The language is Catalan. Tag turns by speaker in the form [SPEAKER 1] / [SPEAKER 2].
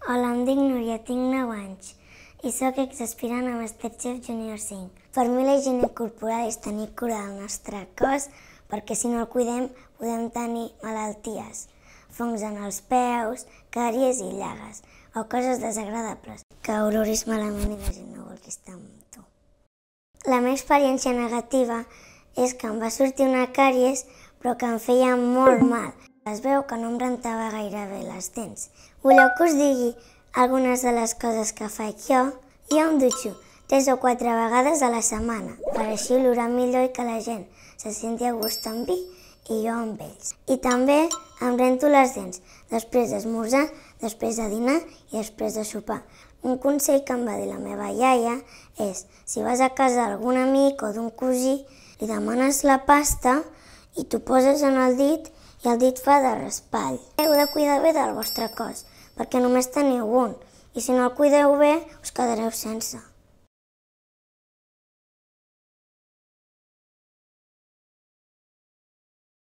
[SPEAKER 1] Hola, em dic Núria, tinc 9 anys i sóc exaspirant a Masterchef Junior 5. Per mi la higiene corporal és tenir cura del nostre cos perquè si no el cuidem podem tenir malalties, fongs en els peus, càries i llagues o coses desagradables que oloris malament i la gent no vol estar amb tu. La meva experiència negativa és que em va sortir una càries però que em feia molt mal. Es veu que no em rentava gaire bé les dents. Voleu que us digui algunes de les coses que faig jo? Jo em dutxo 3 o 4 vegades a la setmana, per així olorar millor i que la gent se senti a gust amb mi i jo amb ells. I també em rento les dents després d'esmorzar, després de dinar i després de sopar. Un consell que em va dir la meva iaia és, si vas a casa d'algun amic o d'un cosí, li demanes la pasta i t'ho poses en el dit i el dit fa de raspall. Heu de cuidar bé del vostre cos, perquè només teniu un, i si no el cuideu bé us quedareu sense.